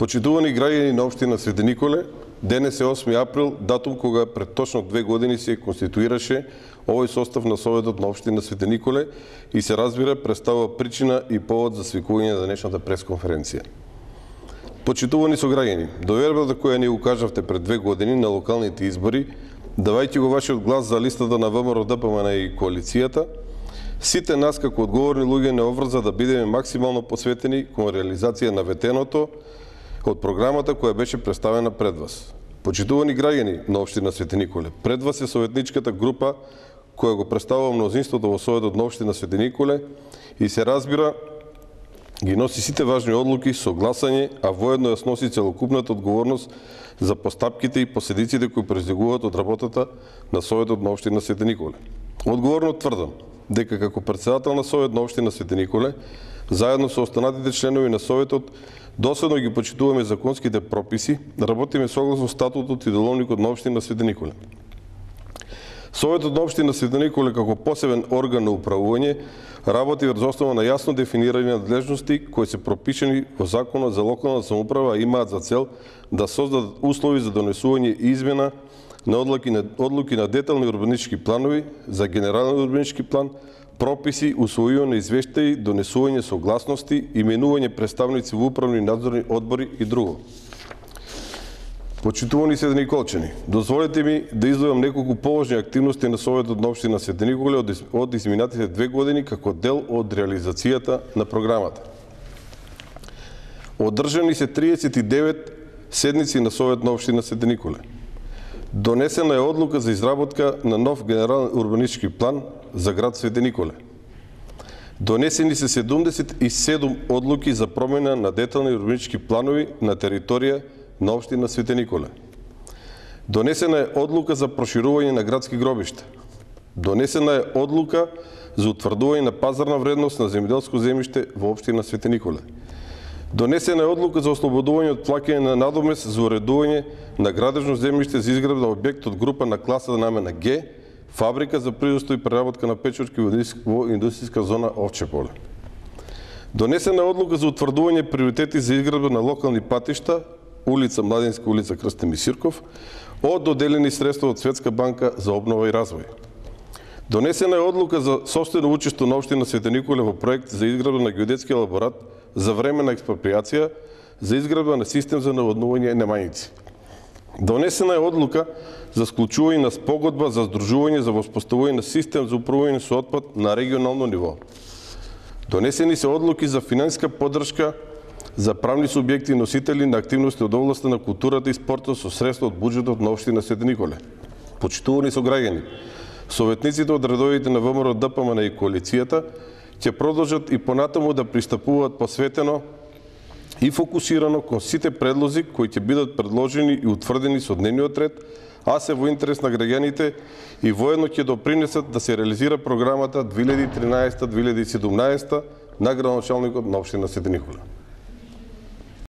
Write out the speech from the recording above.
Почитувани граѓани на општина Свети Николе, денес е 8 април, датум кога пред точно 2 години се конституираше овој состав на Советот на општина Свети Николе и се разбира представува причина и повод за свикување на денешната пресконференција. Почитувани сограѓани, довербата која ни укажавте пред 2 години на локалните избори, давајќи го вашиот глас за листата на ВМРО ДПМН и коалицијата, сите нас како одговорни луѓе не обврза да бидеме максимално посветени кон реализација на ветеното од програмата која беше представена пред вас. Почитувани граѓани на општина Свети Николе, пред вас е советничката група која го представува мнозинството во Советот на општина Свети Николе и се разбира ги носи сите важни одлуки со гласање, а воедно ја сноси целокупната одговорност за постапките и последиците кои произлегуваат од работата на Советот на општина Свети Николе. Одговорно тврдам дека како претседател на Совет на општина Свети Николе, заедно со останатите членови на Советот, доследно ги почитуваме законските прописи, работиме согласно статутот и деловникот на општина Свети Николе. Советот на општина Свети Николе како посебен орган на управување работи врз основа на јасно дефинирани надлежности кои се пропишани во Законот за локална самоуправа и имаат за цел да создадат услови за донесување и измена на одлуки на детални урбанистички планови, за генерален урбанистички план, прописи, усвојување извештаи, донесување согласности, именување представници во управни и надзорни одбори и друго. Почитувани Свети Николчани, дозволете ми да издвојам неколку поважни активности на Советот на општина Свети Николе од изминатите 2 години како дел од реализацијата на програмата. Одржани се 39 седници на Совет на општина Свети Николе. Донесена е одлука за изработка на нов генерален урбанистички план за град Свети Николе. Донесени се 77 одлуки за промена на детални урбанистички планови на територија на општина Свети Николе. Донесена е одлука за проширување на градски гробишта. Донесена е одлука за утврдување на пазарна вредност на земјоделско земјиште во општина Свети Николе. Донесена е одлука за ослободување од плаќање на надомест за уредување на градежно земјиште за изградба објект од група на класа намена Г, фабрика за производство и преработка на печурки во индустријска зона Овче поле. Донесена е одлука за утврдување приоритети за изградба на локални патишта, улица Младинска, улица Крстен Мисирков, од доделени средства од Светска банка за обнова и развој. Донесена е одлука за собствено учество на општина Свети Николе во проект за изградба на геодетски елаборат за времена експроприација за изградба на систем за наводнување Немањици. Донесена е одлука за склучување на спогодба за здружување за воспоставување на систем за управување со отпад на регионално ниво. Донесени се одлуки за финансиска поддршка за правни субјекти и носители на активности од областта на културата и спортот со средства од буџетот на општина Свети Николе. Почитувани сограѓани, советниците од редовите на ВМРО ДПМН и коалицијата ќе продолжат и понатаму да пристапуваат посветено и фокусирано кон сите предлози кои ќе бидат предложени и утврдени со дневниот ред, а се во интерес на граѓаните и воедно ќе допринесат да се реализира програмата 2013-2017 на градоначалникот на општина Свети Николе.